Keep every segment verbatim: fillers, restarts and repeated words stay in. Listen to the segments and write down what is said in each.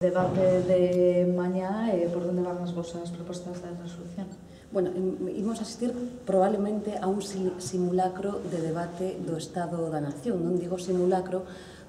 debate de mañá e por onde van as vosas propostas de resolución? Bueno, imos asistir probablemente a un simulacro de debate do Estado da Nación. Non digo simulacro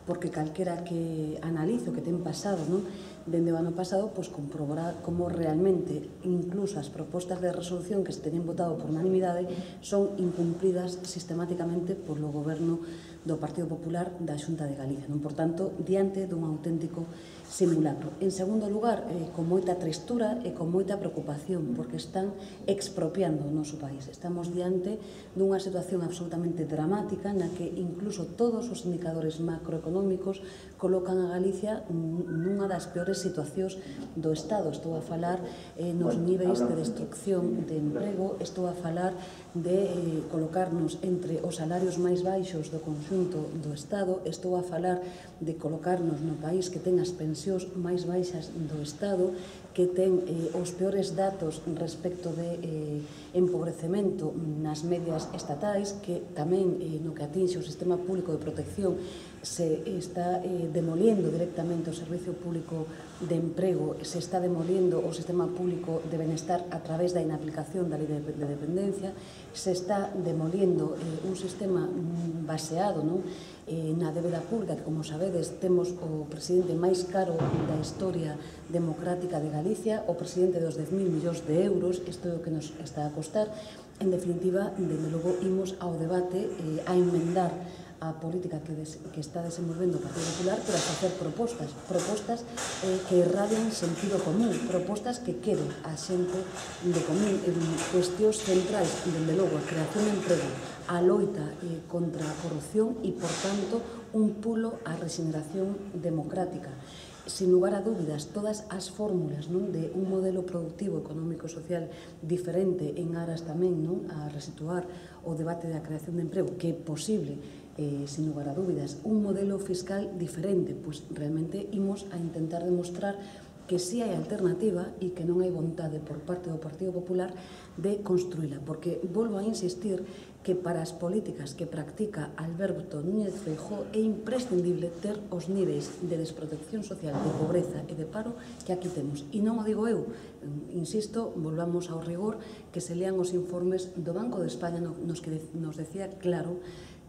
porque calquera que analice o que ten pasado, non? Dende o ano pasado, pois comprobará como realmente incluso as propostas de resolución que se teñen votado por unanimidade son incumplidas sistemáticamente polo goberno do Partido Popular da Xunta de Galicia, non? Por tanto, diante dun auténtico simulacro. En segundo lugar, eh, con moita tristura e con moita preocupación, porque están expropiando o noso país. Estamos diante dunha situación absolutamente dramática na que incluso todos os indicadores macroeconómicos colocan a Galicia nunha das peores situacións do Estado. Estou a falar eh, nos niveis de destrucción de emprego, estou a falar de eh, colocarnos entre os salarios máis baixos do conxunto do Estado, estou a falar de colocarnos no país que ten as pensións máis baixas do Estado, que ten eh, os peores datos respecto de eh, empobrecemento nas medias estatais, que tamén eh, no que atinxe o sistema público de protección se está eh, demoliendo directamente o servicio público de emprego, se está demoliendo o sistema público de benestar a través da inaplicación da lei de, de dependencia, se está demoliendo eh, un sistema baseado, non? Eh, na débeda pública, que, como sabedes, temos o presidente máis caro da historia democrática de Galicia, o presidente dos dez mil millóns de euros, isto é o que nos está a costar. En definitiva, dende logo, imos ao debate eh, a enmendar a política que, des, que está desenvolvendo o Partido Popular, pero a facer propostas, propostas eh, que irradian sentido común, propostas que queren a xente de común, en cuestións centrais, dende logo, a creación de emprego, a loita eh, contra a corrupción e, por tanto, un pulo á regeneración democrática. Sin lugar a dúbidas, todas as fórmulas, non, de un modelo productivo, económico e social diferente en aras tamén, non, a resituar o debate da creación de emprego, que é posible, eh, sin lugar a dúbidas, un modelo fiscal diferente, pois realmente imos a intentar demostrar que si hai alternativa e que non hai vontade por parte do Partido Popular de construíla, porque volvo a insistir que para as políticas que practica Alberto Núñez Feijóo é imprescindible ter os niveis de desprotección social, de pobreza e de paro que aquí temos. E non o digo eu, insisto, volvamos ao rigor, que se lean os informes do Banco de España nos que nos decía claro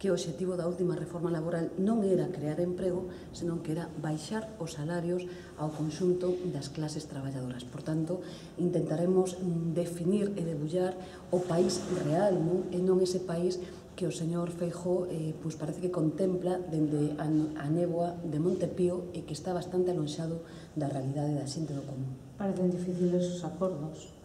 que o obxectivo da última reforma laboral non era crear emprego, senón que era baixar os salarios ao conxunto das clases traballadoras. Por tanto, intentaremos definir e debullar o país real, non? E non ese país que o señor Feijóo eh, pues parece que contempla dende a, a néboa de Montepío e que está bastante alonxado da realidade da xente do común. Parecen difíciles os acordos.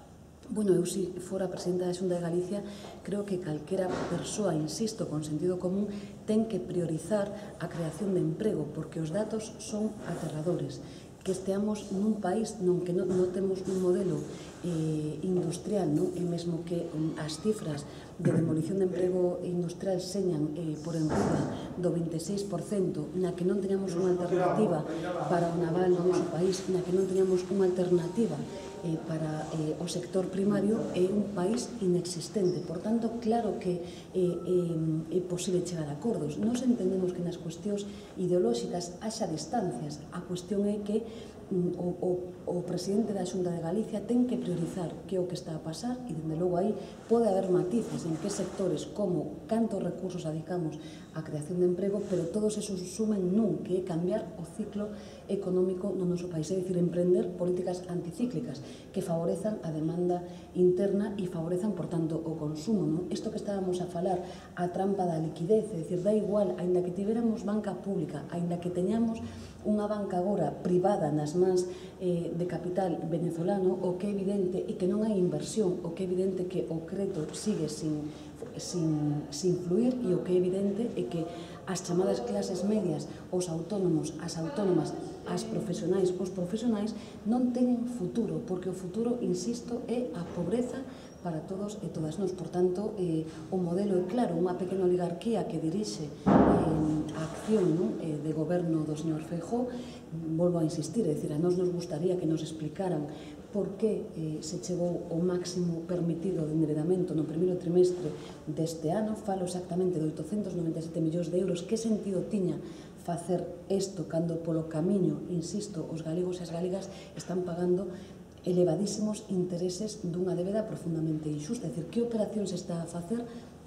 Bueno, eu se fora presidenta da Xunta de Galicia, creo que calquera persoa, insisto, con sentido común, ten que priorizar a creación de emprego, porque os datos son aterradores. Que esteamos nun país non que non, non temos un modelo eh, industrial, non? E mesmo que um, as cifras de demolición de emprego industrial señan eh, por enriba do vinte e seis por cento, na que non teñamos unha alternativa para o naval no noso país, na que non teñamos unha alternativa eh, para eh, o sector primario, é un país inexistente. Por tanto, claro que eh, eh, é posible chegar a acordos. Nos entendemos que nas cuestións ideolóxicas haxa distancias. A cuestión é que O, o, o presidente da Xunta de Galicia ten que priorizar que é o que está a pasar e, dende logo, aí pode haber matices en que sectores, como cantos recursos adicamos á creación de emprego, pero todos esos sumen nun, que é cambiar o ciclo económico no noso país, é dicir, emprender políticas anticíclicas que favorezan a demanda interna e favorezan, por tanto, o consumo, non? Isto que estábamos a falar, a trampa da liquidez, é dicir, da igual, aínda que tiveramos banca pública, aínda que teñamos unha banca agora privada nas mans eh, de capital venezolano, o que é evidente é que non hai inversión, o que é evidente que o crédito sigue sin, sin, sin fluir, e o que é evidente é que as chamadas clases medias, os autónomos, as autónomas, as profesionais, os profesionais non teñen futuro, porque o futuro, insisto, é a pobreza para todos e todas nós. Por tanto, eh, o modelo é claro, unha pequena oligarquía que dirixe eh, a acción, non, eh, de goberno do señor Feijóo. Volvo a insistir, é dicir, a nós nos gustaría que nos explicaran por que eh, se chegou o máximo permitido de enderedamento no primeiro trimestre deste ano. Falo exactamente de oitocentos noventa e sete millóns de euros. Que sentido tiña facer isto cando polo camiño, insisto, os galegos e as galegas están pagando elevadísimos intereses dunha débeda profundamente injusta. É dicir, que operación se está a facer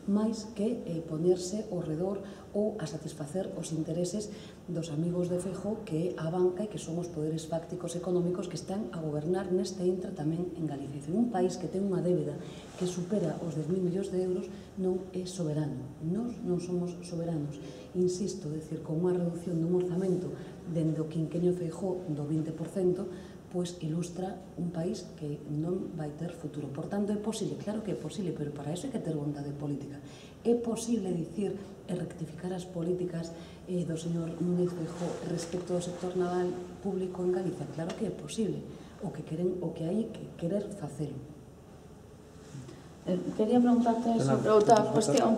máis que eh, ponerse ao redor ou a satisfacer os intereses dos amigos de Feijóo, que é a banca e que son os poderes fácticos económicos que están a gobernar neste intra tamén en Galicia. Un país que ten unha débeda que supera os dez mil millóns de euros non é soberano. Nós non somos soberanos. Insisto, decir, con unha reducción dun orzamento dende o quinquenio Feijóo do vinte por cento, pois ilustra un país que non vai ter futuro. Por tanto, é posible, claro que é posible, pero para iso hai que ter vontade política. É posible dicir e rectificar as políticas eh, do señor Núñez Feijóo respecto ao sector naval público en Galicia? Claro que é posible. O que queren, o que hai que querer facelo. Eh, quería preguntarte sobre outra cuestión.